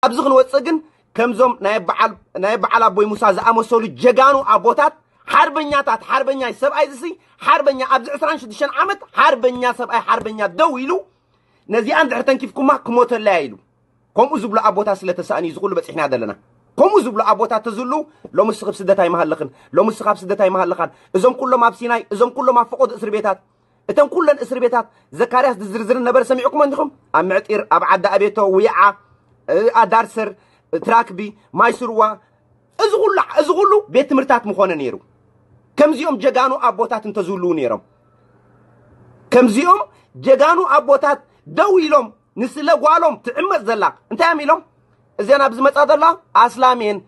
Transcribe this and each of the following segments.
ኣብዚ ክንወፅእ ግን ከምዞም ናይ በዓል ኣቦይ ሙሳ ዝኣመሰሉ ጀጋኑ ኣቦታት ሓርበኛታት፣ ሓርበኛ ሰብኣይ ዝሲ ሓርበኛ ኣብዚ ዕስራን ሽዱሽተን ዓመት ሓርበኛ ሰብኣይ ሓርበኛ ደው ኢሉ ነዚኣን ድሕር ተንኪፍኩማ ክሞተለያ ኢሉ ከምኡ ዝብሉ ኣቦታት ስለተሳእን እዩ ዝኩሉ በፂሕና ዘለና። ከምኡ ዝብሉ ኣቦታት ተዝሉ ሎሚ ስኽብ ስደት ኣይመሃለኽን፣ ሎሚ ስኻብ ስደት ኣይመሃለኻን። እዞም ኩሎም ኣብ ሲናይ፣ እዞም ኩሎም ኣብ ፈቆዶ እስር ቤታት፣ እተን ኩለን እስር ቤታት ዘካርያስ ዝዝርዝርን ነበረ ሰሚዕኩሞ እንዲኹም? ኣብ ምዕጢር፣ ኣብ ዓዲ ኣቤቶ፣ ውይዓ፣ ኣዳርሰር፣ ትራክቢ፣ ማይስርዋ፣ እዚ ኩሉ እዚ ኩሉ ቤት ትምህርታት ምኾነ ነይሩ። ከምዚኦም ጀጋኑ ኣቦታት እንተዝህልዉ ነይሮም፣ ከምዚኦም ጀጋኑ ኣቦታት ደው ኢሎም ንስለ ጓሎም ትዕመፅ ዘላ እንታይ እዮም ኢሎም? እዚአን ኣብ ዝመፃ ዘላ ኣስላም እየን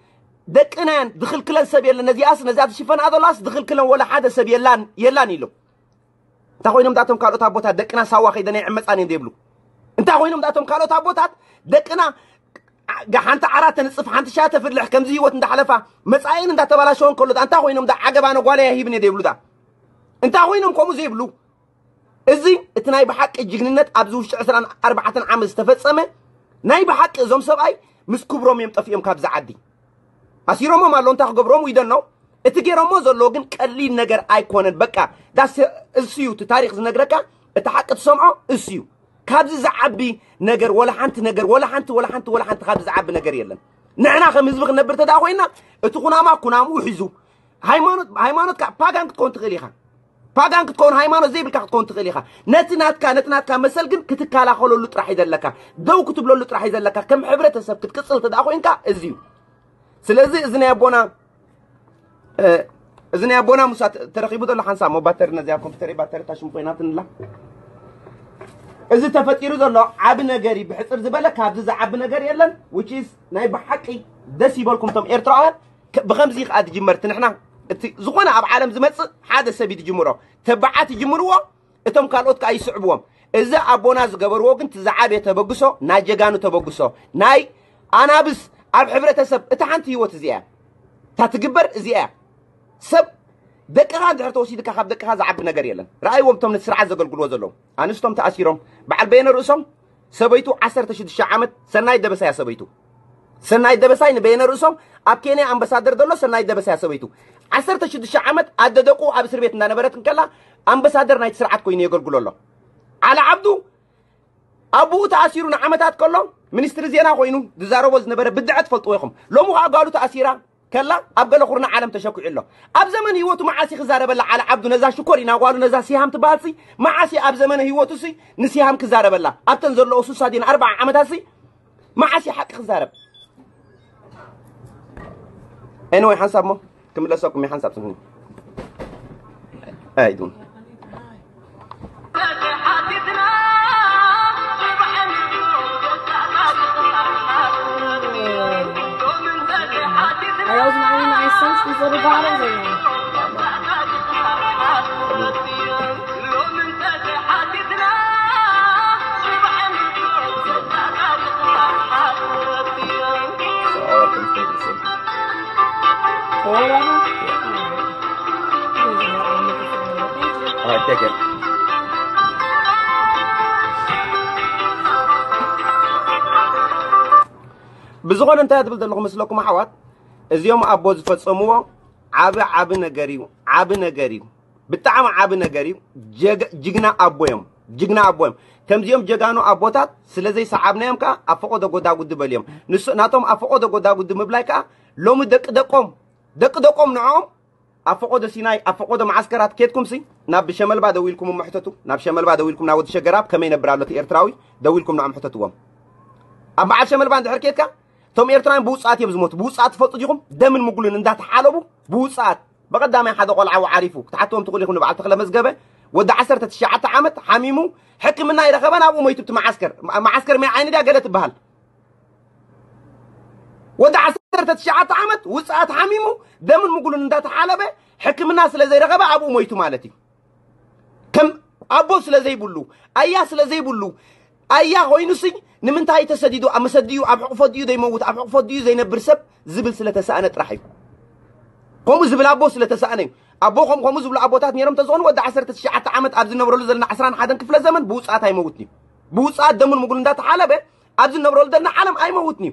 ደቅና እየን ዝኽልክለን ሰብ የለን። ነዚኣስ ነዚኣ ትሽፈንኣ ዘላስ ዝኽልክለን ወላ ሓደ ሰብ የላን የላን ኢሎም። እንታይ ኮይኖም ዳቶም ካልኦት ኣቦታት ደቅና ሳዋ ከይደን ኣይዕመፃን እየን ዘይብሉ? እንታይ ኮይኖም ዳቶም ካልኦት ኣቦታት ደቅና ሓንቲ ዓራት ተንፅፍ ሓንቲ ሻ ተፍልሕ ከምዚ ህይወት እንዳሓለፋ መፃኢን እንዳተባላሸወን ከሎ እንታይ ኮይኖም ዳ ዓገባ ነጓለያ ሂብን እየ ዘይብሉ ዳ እንታይ ኮይኖም ከምኡ ዘይብሉ? እዚ እቲ ናይ ብሓቂ ጅግንነት ኣብዚ ውሽጢ ዕስራን ኣርባዕተን ዓመት ዝተፈጸመ ናይ ብሓቂ እዞም ሰብኣይ ምስ ክብሮም እዮም ጠፊኦም ካብዚ ዓዲ። ኣሲሮሞም ኣሎ እንታይ ክገብሮም ዊደን ነው እቲ ገይሮሞ ዘለዎ ግን ቀሊል ነገር ኣይኮነን። በቃ ዳስ እሱ እዩ እቲ ታሪክ ዝነግረካ እቲ ሓቂ ትሰምዖ እሱ እዩ። ካብዚ ዝዓቢ ነገር ወላ ሓንቲ ነገር ወላ ሓንቲ ወላ ሓንቲ ወላ ሓንቲ ካብዚ ዝዓቢ ነገር የለን። ንሕና ከም ህዝቢ ክነብር ተዳ ኮይና እቲ ኩናማ ኩናምኡ ሒዙ ሃይማኖት ሃይማኖትካ ፓጋን ክትከውን ትኽእል ኢኻ። ፓጋን ክትከውን ሃይማኖት ዘይብልካ ክትከውን ትኽእል ኢኻ። ነቲ ናትካ ነቲ ናትካ መሰል ግን ክትከላኸለሉ ጥራሕ እዩ ዘለካ። ደው ክትብለሉ ጥራሕ እዩ ዘለካ። ከም ሕብረተሰብ ክትቅፅል ተዳ ኮይንካ እዚ እዩ። ስለዚ እዚ ናይ ኣቦና እዚ ናይ ኣቦና ሙሳ ተረኺቡ ዘሎ ሓንሳብ ሞ ባተሪ ነዚኣ ኮምፒተር ባተሪ ታሽም ኮይናትንላ እዚ ተፈጢሩ ዘሎ ዓቢ ነገር እዩ። ብሕፅር ዝበለ ካብዚ ዝዓቢ ነገር የለን። Which is ናይ ብሓቂ ደስ ይበልኩም እቶም ኤርትራውያን። ብኸምዚ ከዓ ትጅመር እቲ ንሕና እቲ ዝኾነ ኣብ ዓለም ዝመፅእ ሓደ ሰብ እዩ ትጅምሮ። ተባዓት ይጅምርዎ እቶም ካልኦት ከዓ ይስዕብዎም። እዚ ኣቦና ዝገበርዎ ግን እቲ ዝዓበየ ተበግሶ ናይ ጀጋኑ ተበግሶ ናይ ኣናብስ ኣብ ሕብረተሰብ እታ ሓንቲ ህይወት እዚኣ እያ። እታ ትግበር እዚኣ እያ። ሰብ ደቅኻ እንድሕር ተወሲድካ ካብ ደቅኻ ዝዓቢ ነገር የለን። ረኣይዎም እቶም ነቲ ስርዓት ዘገልግልዎ ዘለዉ ኣንስቶም ተኣሲሮም በዓል በየነ ርእሶም ሰበይቱ ዓሰርተ ሽዱሽተ ዓመት ሰናይ ደበሳያ ሰበይቱ ሰናይ ደበሳይ ንበየነ ርእሶም ኣብ ኬንያ ኣምባሳደር ዘሎ ሰናይ ደበሳያ ሰበይቱ ዓሰርተ ሽዱሽተ ዓመት ኣደ ደቁ ኣብ እስር ቤት እንዳነበረት እንከላ ኣምባሳደር ናይቲ ስርዓት ኮይኑ የገልግሎ ኣሎ። ዓሊ ዓብዱ ኣቡኡ ተኣሲሩ ንዓመታት ከሎ ሚኒስትሪ ዜና ኮይኑ ዝዛረቦ ዝነበረ ብድዐ ትፈልጥዎ ኢኹም። ሎሚ ከዓ ጓሉ ተኣሲራ ከላ ኣብ ገለ ኩርና ዓለም ተሸኩዑ ኣሎ። ኣብ ዘመን ህይወቱ መዓስ እዩ ክዛረበላ ዓሊ ዓብዱ ነዛ ሽኮር ኢና ጓሉ ነዛ ሲሃም ትበሃል ሲ መዓስ እዩ ኣብ ዘመነ ህይወቱ ሲ ንሲሃም ክዛረበላ ኣብተን ዘለዎ ሱሳ ዲን ኣርባዓ ዓመታት ሲ መዓስ እዩ ሓቂ ክዛረብ? Anyway ሓንሳብ ሞ ክምለሰኩም እየ ሓንሳብ ስምኒ ኣይዱን Are those ninety-nine cents, these little bottles, or no? Four of them? All right, take it. ብዝኾነ እንታይ ትብል ዘለኹ መስለኩም ኣሕዋት? እዚኦም ኣቦ ዝፈጸምዎ ዓቢ ዓቢ ነገር እዩ። ዓቢ ነገር እዩ። ብጣዕሚ ዓቢ ነገር እዩ። ጅግና ኣቦ እዮም። ጅግና ኣቦ እዮም። ከምዚኦም ጀጋኑ ኣቦታት ስለ ዘይሰዓብናዮም ከዓ ኣብ ፈቆዶ ጎዳጉዲ በልዮም። ንሱ ናቶም ኣብ ፈቆዶ ጎዳጉዲ ምብላይ ከዓ ሎሚ ደቂ ደቆም ደቂ ደቆም ንዕኦም ኣብ ፈቆዶ ሲናይ ኣብ ፈቆዶ መዓስከራት ኬድኩም ሲ ናብ ሸመልባ ደዊልኩም እሞ ሕተቱ ናብ ሸመልባ ደዊልኩም ናብ ወዲ ሸገራብ ከመይ ነብር ኣሎ እቲ ኤርትራዊ ደዊልኩም ንዕኦም ሕተትዎም ኣብ በዓል ሸመልባ እንድሕር ኬድካ እቶም ኤርትራውያን ብውፅኣት እዮም ዝሞቱ ብውፅኣት ትፈልጡ ዲኹም ደምን ምጉልን እንዳተሓለቡ ብውፅኣት ብቐዳማይ ሓደ ቆልዓ ዓሪፉ ክትሓትዎም ትኽእሉ ኢኹም ንበዓል ተኽለ መዝገበ ወዲ ዓሰርተ ትሽዓተ ዓመት ሓሚሙ ሕክምና ይረኸበን ኣብኡ ሞይቱ እቲ መዓስከር መዓስከር ማይ ዓይኒ ድያ ገለ ትበሃል ወዲ ዓሰርተ ትሽዓተ ዓመት ውፅኣት ሓሚሙ ደምን ምጉሉን እንዳተሓለበ ሕክምና ስለ ዘይረኸበ ኣብኡ ሞይቱ ማለት እዩ። ከም ኣቦ ስለ ዘይብሉ ኣያ ስለ ዘይብሉ ኣያ ኮይኑሲ ንምንታይ ተሰዲዱ ኣብ መሰዲኡ ኣብ ሕቑፎ ድዩ ዘይመውት ኣብ ሕቑፎ ድዩ ዘይነብር ሰብ ዝብል ስለ ተሰኣነ ጥራሕ እዩ። ከምኡ ዝብል ኣቦ ስለ ተሰኣነ እዩ። ኣቦ ከም ከምኡ ዝብሉ ኣቦታት ነይሮም ተዝኾኑ ወዲ ዓሰርተ ትሽዓተ ዓመት ኣብ ዝነብረሉ ዘለና ዕስራን ሓደን ክፍለ ዘመን ብውፅኣት ኣይመውትን እዩ። ብውፅኣት ደሙን ምጉሉን እንዳተሓለበ ኣብ ዝነብረሉ ዘለና ዓለም ኣይመውትን እዩ።